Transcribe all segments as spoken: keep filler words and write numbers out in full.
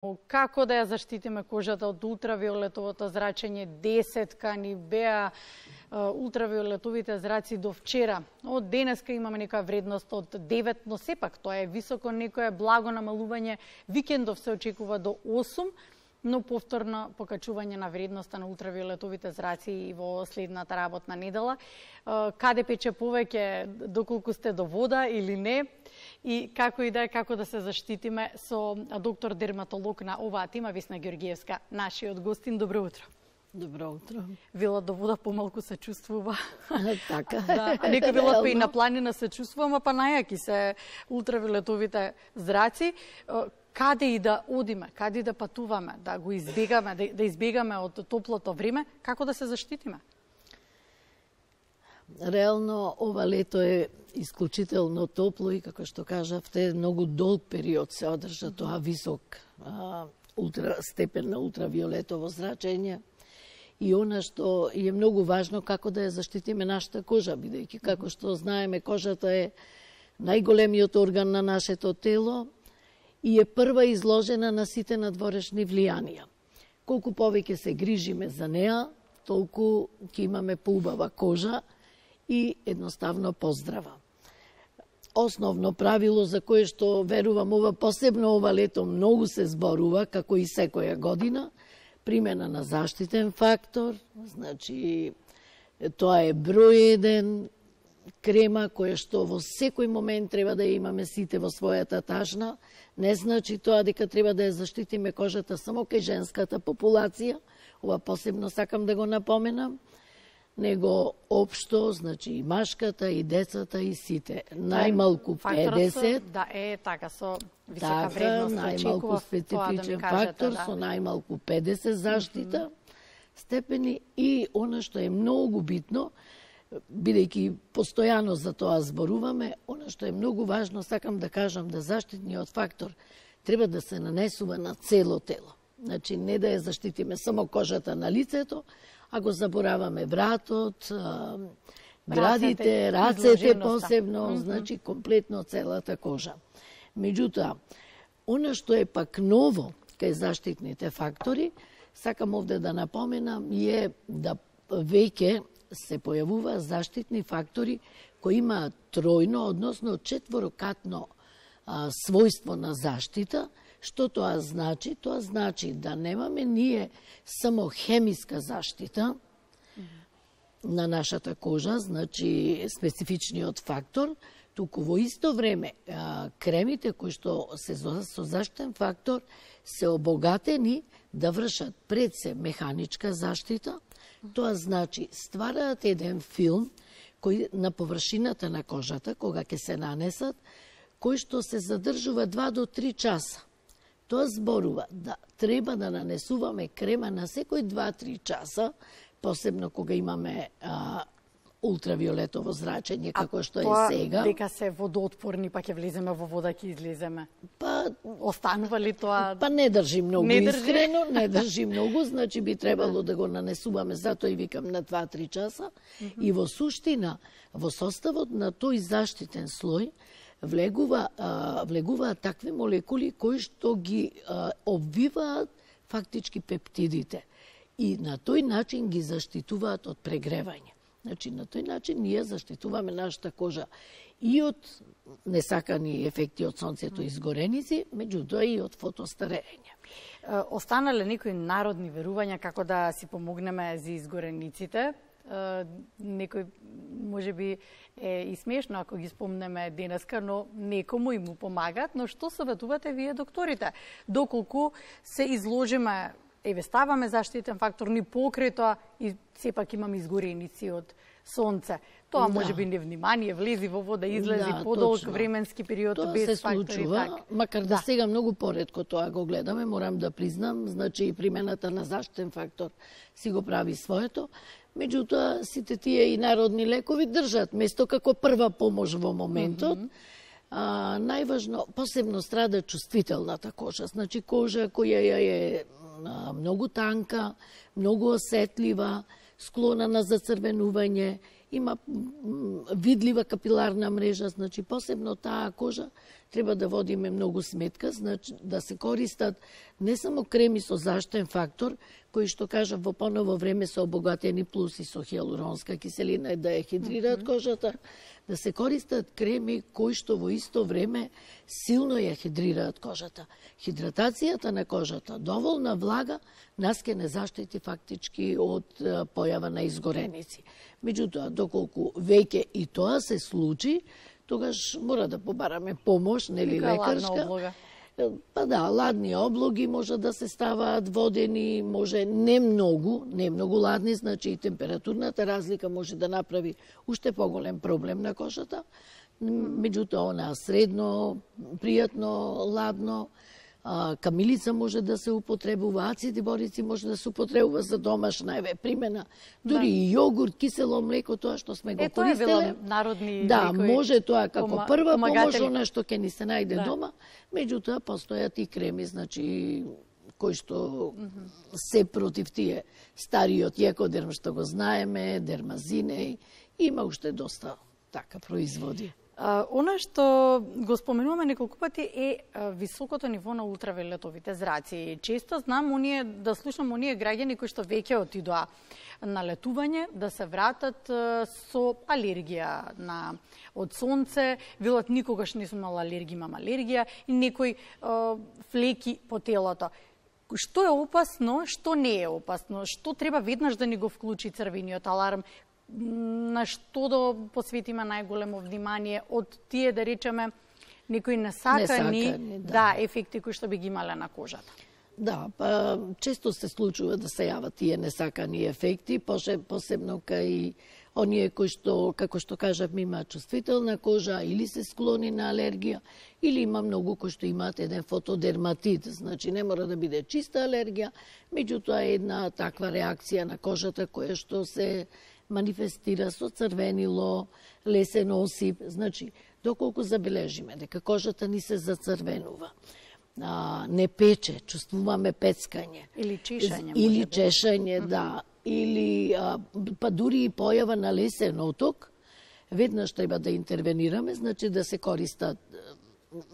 Како да ја заштитиме кожата од ултравиолетовото зрачење? Десетка ни беа ултравиолетовите зраци до вчера. Од денеска имаме некоја вредност од девет, но сепак тоа е високо, некое благо намалување. Викендов се очекува до осум, но повторно покачување на вредноста на ултравиолетовите зраци и во следната работна недела. Каде пече повеќе, доколку сте до вода или не, и како и да е, како да се заштитиме со доктор дерматолог на оваа тема, Весна Георгиевска, нашиот гостин. Добро утро. Добро утро. Велат до вода помалку се чувствува. Така. Да, а нека велат па и на планина се чувствуваме, па најаки се ултравиолетовите зраци. Каде и да одиме, каде и да патуваме, да го избегаме, да, да избегаме од топлото време, како да се заштитиме? Реално, ова лето е исклучително топло и, како што кажавте, многу долг период се одржа тоа висок а, ултра, степен на ултравиолетово зрачење. И она што е многу важно, како да ја заштитиме нашата кожа, бидејќи, како што знаеме, кожата е најголемиот орган на нашето тело и е прва изложена на сите надворешни влијанија. Колку повеќе се грижиме за неа, толку ќе имаме поубава кожа и едноставно поздрава. Основно правило за кое што верувам ова посебно ова лето многу се зборува, како и секоја година, примена на заштитен фактор, значи тоа е број еден крема која што во секој момент треба да ја имаме сите во својата тажна. Не значи тоа дека треба да ја заштитиме кожата само кај женската популација, ова посебно сакам да го напоменам, него општо, значи и машката, и децата, и сите. Најмалку педесет. Да, е така, со висока вредност. Најмалку специфичен да фактор, да. Со најмалку педесет заштита mm -hmm. степени. И она што е многу битно, бидејќи постојано за тоа зборуваме, она што е многу важно, сакам да кажам да заштитниот фактор треба да се нанесува на цело тело. Значи, не да ја заштитиме само кожата на лицето, а го забораваме вратот, градите, рацете посебно, mm -hmm. значи комплетно целата кожа. Меѓутоа, она што е пак ново кај заштитните фактори, сакам овде да напоменам, е да веќе се појавува заштитни фактори кои имаат тројно, односно четворокатно а, својство на заштита. Што тоа значи? Тоа значи да немаме ние само хемиска заштита mm -hmm. на нашата кожа, значи специфичниот фактор, туку во исто време а, кремите кои што се со заштитен фактор се обогатени да вршат пред се механичка заштита. Тоа значи ствараат еден филм кој на површината на кожата, кога ќе се нанесат, кој што се задржува два до три часа. Тоа зборува да треба да нанесуваме крема на секој два-три часа, посебно кога имаме а, ултравиолетово зрачење, како што е сега. А дека се водоотпорни, па ќе влеземе во вода, ќе излеземе? Па, останува ли тоа? Па не држи многу, не држи? искрено, не држи многу, значи би требало да го нанесуваме, затоа и викам на два-три часа. Mm -hmm. И во суштина, во составот на тој заштитен слој, влегува, а, влегуваат такви молекули кои што ги а, обвиваат фактички пептидите и на тој начин ги заштитуваат од прегревање. Значи, на тој начин ние заштитуваме нашата кожа и од несакани ефекти од сонцето и изгореници, меѓутоа и од фотостарење. Останале некои народни верувања како да си помогнеме за изгорениците? Некој може би е и смешно ако ги спомнеме денеска, но некому и му помагаат. Но што советувате вие, докторите? Доколку се изложиме, еве ставаме заштитен фактор, ни покрај тоа и сепак имаме изгореници од сонце. Тоа да. може би невнимание, влези во вода, излези да, подолг точно. Временски период тоа без се фактори. Случува, так. макар да, да сега многу поретко тоа го гледаме, морам да признам, значи и примената на заштитен фактор си го прави своето. Меѓутоа, сите тие и народни лекови држат место како прва помош во моментот. Mm -hmm. а, најважно, посебно страда чувствителната кожа, значи кожа која е многу танка, многу осетлива, склона на зацрвенување има видлива капиларна мрежа, значи посебно таа кожа треба да водиме многу сметка, значи да се користат не само креми со заштитен фактор, кои што кажав во поново време се обогатени плюс и со хиалуронска киселина да ја хидрираат кожата, да се користат креми кои што во исто време силно ја хидрираат кожата. Хидратацијата на кожата, доволна влага, нас ке не заштити фактички од појава на изгореници. Меѓутоа, доколку веќе и тоа се случи, тогаш мора да побараме помош, нели лекарска. Па да, ладни облоги може да се ставаат водени, може не многу, не многу ладни, значи и температурната разлика може да направи уште поголем проблем на кожата. Меѓутоа, она средно, пријатно, ладно, а, камилица може да се употребува, ацид борици може да се употребува за домашна еве примена, дури да. И јогурт, кисело млеко, тоа што сме го користеле. Е, тоа е било народни да, може тоа како пома, прва помош, она што ќе ни се најде да. Дома, меѓутоа постојат и креми, значи кои што mm -hmm. се против тие стариот екодерм што го знаеме, дермазинеј, има уште доста така производи. Uh, она што го споменуваме неколку пати е uh, високото ниво на ултравиолетовите зраци. Често знам оние, да слушам оние граѓани кои што веќе отидоа на летување, да се вратат uh, со алергија на од сонце, велат никогаш не сум имала алергија, имам алергија и некои uh, флеки по телото. Што е опасно, што не е опасно, што треба веднаш да ни го вклучи црвениот аларм, на што да посветиме најголемо внимание од тие, да речеме, некои несакани, несакани да. да, ефекти кои што би ги имале на кожата. Да, па често се случува да се јават тие несакани ефекти, посебно кај оние кои што, како што кажавме, имаат чувствителна кожа или се склони на алергија, или има многу кои што имаат еден фотодерматит, значи не мора да биде чиста алергија, меѓутоа една таква реакција на кожата која што се манифестира со црвенило, лесен осип, значи доколку забележиме дека кожата ни се зацрвенува, а, не пече, чувствуваме пецкање или чешање, или чешање, да, или а, па дури и појава на лесен оток, веднаш треба да интервенираме, значи да се користат,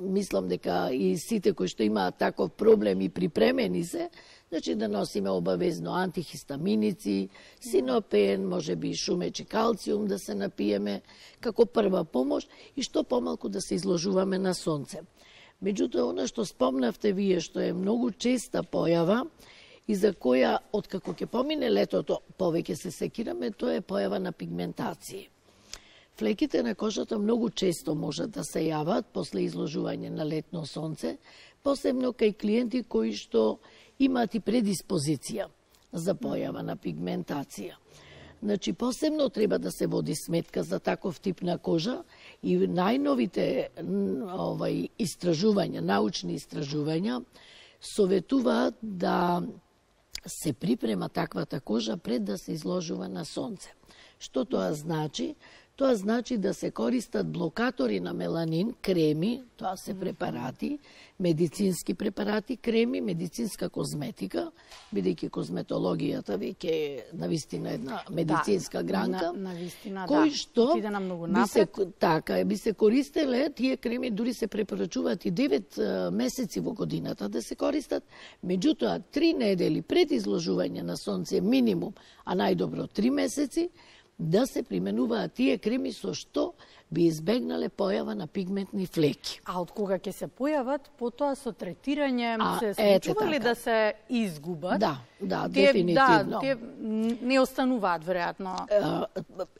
мислам дека и сите кои што имаат таков проблем и припремени се, значи да носиме обавезно антихистаминици, синопен, може би шумеч и калциум да се напиеме како прва помош и што помалку да се изложуваме на сонце. Меѓутоа, она што спомнавте вие, што е многу честа појава и за која, откако ќе помине летото, повеќе се секираме, тоа е појава на пигментација. Флеките на кожата многу често можат да се јават после изложување на летно сонце, посебно кај клиенти кои што имаат и предиспозиција за појава на пигментација. Значи, посебно треба да се води сметка за таков тип на кожа и најновите овај, истражувања, научни истражувања, советуваат да се припрема таквата кожа пред да се изложува на сонце. Што тоа значи? Тоа значи да се користат блокатори на меланин, креми, тоа се препарати, медицински препарати, креми, медицинска козметика, бидејќи козметологијата веќе е навистина една медицинска да, гранка, на, навистина, кои да. што би се, така, би се користеле, тие креми дури се препорачуваат и девет месеци во годината да се користат, меѓутоа три недели пред изложување на сонце минимум, а најдобро три месеци, да се применуваат тие креми со што би избегнале појава на пигментни флеки. А од кога ќе се појават, потоа со третирање а, се случува ли да се изгубат? Да, да, тие, дефинитивно. Да, тие не остануваат, веројатно.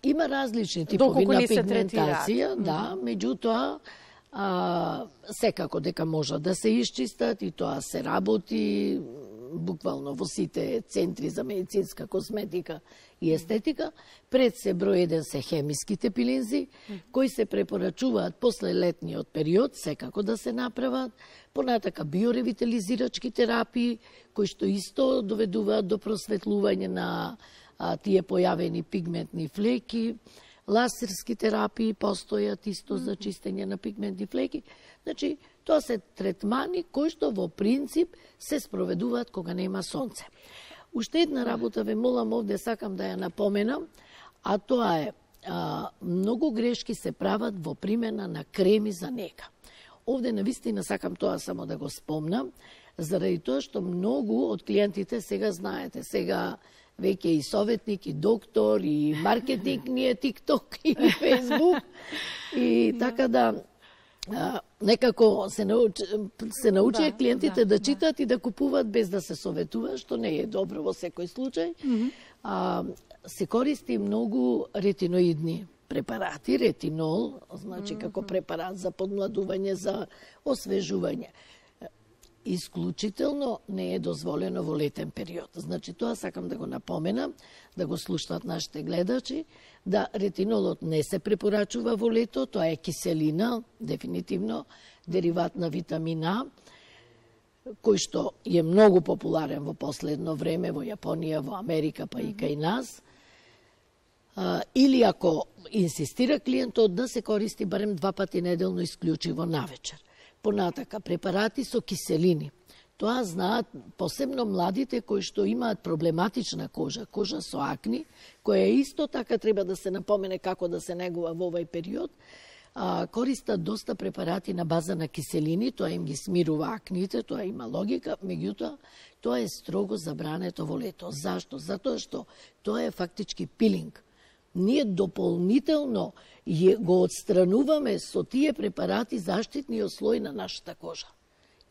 Има различни типови на пигментација, да, меѓутоа, а, секако дека може да се исчистат и тоа се работи буквално во сите центри за медицинска косметика и естетика. Пред се број еден се хемиските пилинзи, кои се препорачуваат после летниот период, секако да се направат. Понатака биоревитализирачки терапии, кои што исто доведуваат до просветлување на а, тие појавени пигментни флеки. Лазерски терапии постојат исто за чистење на пигментни флеки. Значи, тоа се третмани кои што во принцип се спроведуваат кога нема сонце. Уште една работа ве молам овде, сакам да ја напоменам, а тоа е а, многу грешки се прават во примена на креми за нега. Овде навистина сакам тоа само да го спомнам, заради тоа што многу од клиентите сега знаете, сега веќе и советник, и доктор, и маркетинг, ни е TikTok и Facebook. И така да а, некако се научи, се научи да, клиентите да, да читат да. и да купуваат без да се советува, што не е добро во секој случај. Mm -hmm. а, се користи многу ретиноидни препарати, ретинол, значи mm -hmm. како препарат за подмладување, за освежување. Исклучително не е дозволено во летен период. Значи, тоа сакам да го напоменам, да го слушнат нашите гледачи, да ретинолот не се препорачува во лето, тоа е киселина, дефинитивно, дериват на витамин А, кој што е многу популарен во последно време во Јапонија, во Америка, па и кај нас. А, или ако инсистира клиентот да се користи барем два пати неделно исклучиво навечер. Понатака, препарати со киселини. Тоа знаат посебно младите кои што имаат проблематична кожа, кожа со акни, која исто така треба да се напомене како да се негува во овој период, а, користат доста препарати на база на киселини, тоа им ги смирува акните, тоа има логика, меѓутоа, тоа е строго забрането во лето. Зашто? Затоа што тоа е фактички пилинг. Ние дополнително го отстрануваме со тие препарати заштитниот слој на нашата кожа.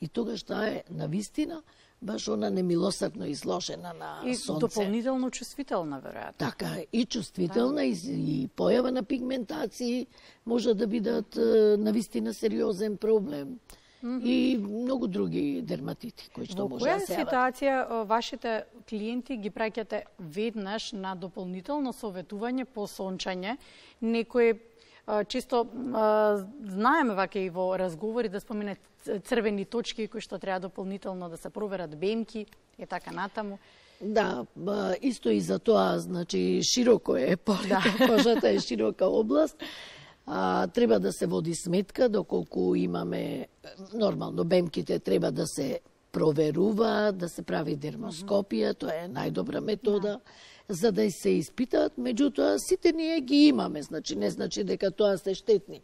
И тогаш таа е навистина баш она немилосърдно изложена на и сонце. И дополнително чувствителна, веројатно. Така, и чувствителна, да. и, и појава на пигментации може да бидат навистина сериозен проблем. Mm -hmm. И многу други дерматити кои што може да се јават. Во која ситуација вашите клиенти ги праќате веднаш на дополнително советување по сончање? Некои често знаеме вака и во разговори да спомене црвени точки кои што треба дополнително да се проверат, бемки и така натаму. Да, исто и за тоа, значи широко е полето, да. Кожата е широка област. А, треба да се води сметка доколку имаме, нормално, бемките треба да се проверува, да се прави дермоскопија, тоа е најдобра метода, да. За да се испитаат, меѓутоа сите ние ги имаме, значи не значи дека тоа се штетни.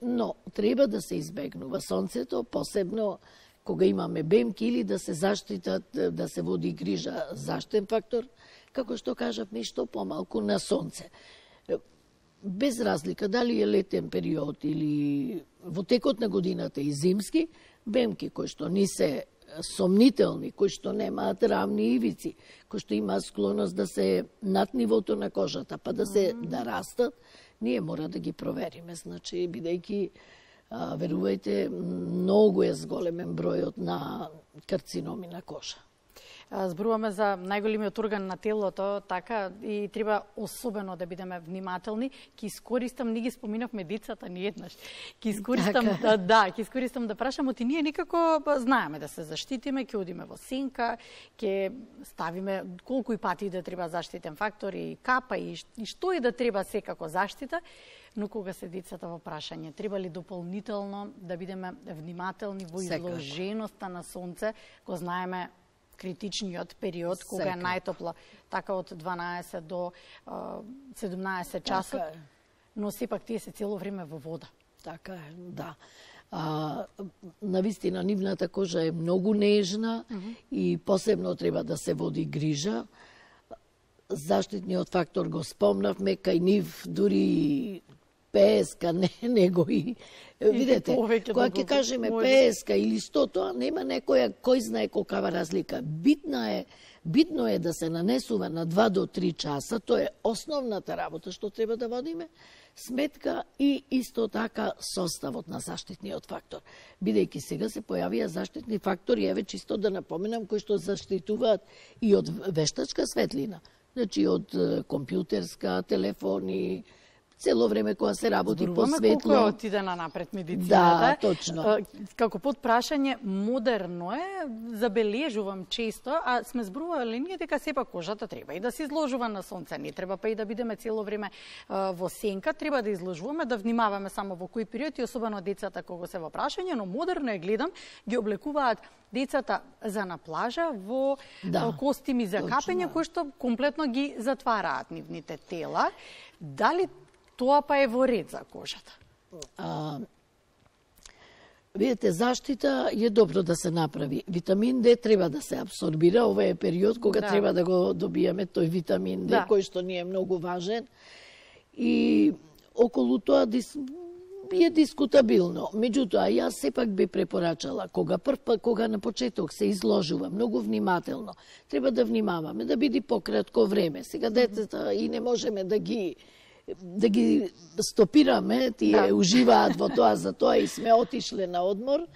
Но треба да се избегнува сонцето, посебно кога имаме бемки, или да се заштитат, да се води грижа заштитен фактор, како што кажавме, што помалку на сонце. Без разлика дали е летен период или во текот на годината и зимски, бемки кои што не се сомнителни, кои што немаат рамни ивици, кои што имаат склоност да се над нивото на кожата, па да се да растат, ние мора да ги провериме. Значи, бидејќи, верувајте, многу е зголемен бројот на карциноми на кожа. Зборуваме за најголемиот орган на телото, така, и треба особено да бидеме внимателни. Ки искористам, ние ги споминавме децата ни еднаш. Ки искористам, така. да, да, ки искористам да прашам, оти ние некако знаеме да се заштитиме, ќе одиме во сенка, ќе ставиме колку и пати да треба заштитен фактор и капа и, и што и да треба секако заштита. Но кога се децата во прашање, треба ли дополнително да бидеме внимателни во изложеноста на сонце, го знаеме критичниот период, кога е најтопло, така од дванаесет до седумнаесет часот, така, но сепак тие се цело време во вода. Така е, да. А, навистина, нивната кожа е многу нежна mm -hmm. и посебно треба да се води грижа. Заштитниот фактор го спомнавме, кај нив дури песка, не, него и... Видете, кога ќе кажеме песка или сто, тоа нема некоја, кој знае колкава разлика. Битна е, битно е да се нанесува на два до три часа, тоа е основната работа што треба да водиме, сметка и исто така составот на заштитниот фактор. Бидејќи сега се појавија заштитни фактори, еве чисто да напоменам, кои што заштитуваат и од вештачка светлина, значи од компјутерска, телефони, цело време кога се работи по светло. Колку е отидена напред медицината. Да, точно. Како подпрашање, модерно е, забележувам често, а сме зборувале ние дека сепак кожата треба и да се изложува на сонце, не треба па и да бидеме цело време во сенка, треба да изложуваме, да внимаваме само во кои периоди, особено децата кога се во прашање, но модерно е, гледам, ги облекуваат децата за на плажа во да, костими за точно. Капење, кои што комплетно ги затвараат нивните тела. Дали тоа па е во ред за кожата. А, видите, заштита е добро да се направи. Витамин Д треба да се абсорбира. Ова е период кога да. треба да го добиеме тој витамин Д, да. кој што ни е многу важен. И околу тоа дис... е дискутабилно. Меѓутоа, јас сепак би препорачала, кога прв пат, кога на почеток се изложува многу внимателно, треба да внимаваме, да биде пократко време. Сега децата и не можеме да ги да ги стопираме, тие да. уживаат во тоа, за тоа и сме отишле на одмор,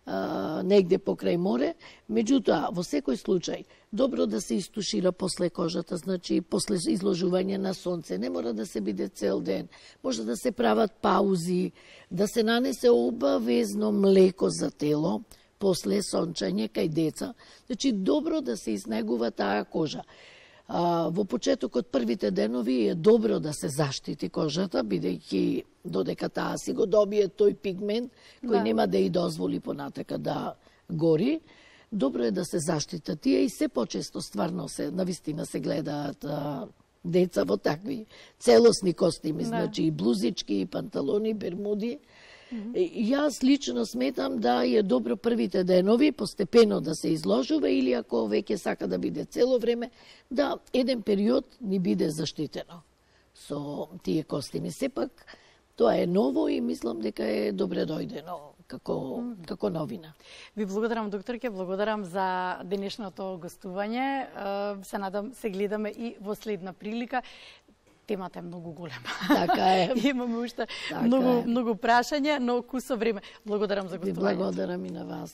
а, негде покрај море. Меѓутоа, во секој случај, добро да се истушира после кожата, значи после изложување на сонце. Не мора да се биде цел ден. Може да се прават паузи, да се нанесе обавезно млеко за тело, после сончање кај деца. Значи, добро да се изнегува таа кожа. А, во почетокот првите денови е добро да се заштити кожата, бидејќи додека таа си го добие тој пигмент, кој да. нема да и дозволи понатака да гори. Добро е да се заштитат тие и се почесто стварно се, навистина се гледаат а, деца во такви целосни костими, да. значи и блузички, и панталони, бермуди. Mm -hmm. Јас лично сметам да е добро првите денови постепено да се изложува или ако веќе сака да биде цело време, да еден период ни биде заштитено со тие костими. Сепак тоа е ново и мислам дека е добре дојдено како, mm -hmm. како новина. Ви благодарам, докторке, благодарам за денешното гостување. Се надам се гледаме и во следна прилика. Темата е многу голема. Така е. Имаме уште така многу, е. многу прашања, но ку со време. Благодарам за гостувањето. Благодарам и на вас.